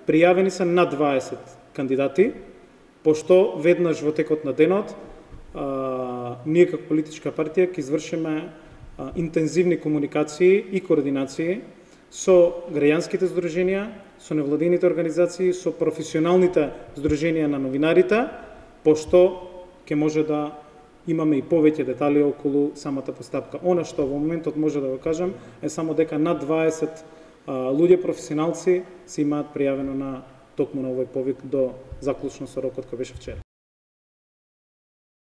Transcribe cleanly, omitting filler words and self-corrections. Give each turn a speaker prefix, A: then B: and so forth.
A: пријавени се над 20 кандидати, пошто веднаш во текот на денот ние како политичка партија ќе извршиме интензивни комуникации и координации со граѓанските здруженија, со невладините организации, со професионалните здруженија на новинарите, пошто ќе може да имаме и повеќе детали околу самата постапка. Она што во моментот може да го кажам е само дека над 20 луѓе професионалци се имаат пријавено на токму на овој повик до заклучно со рокот кој беше вчера.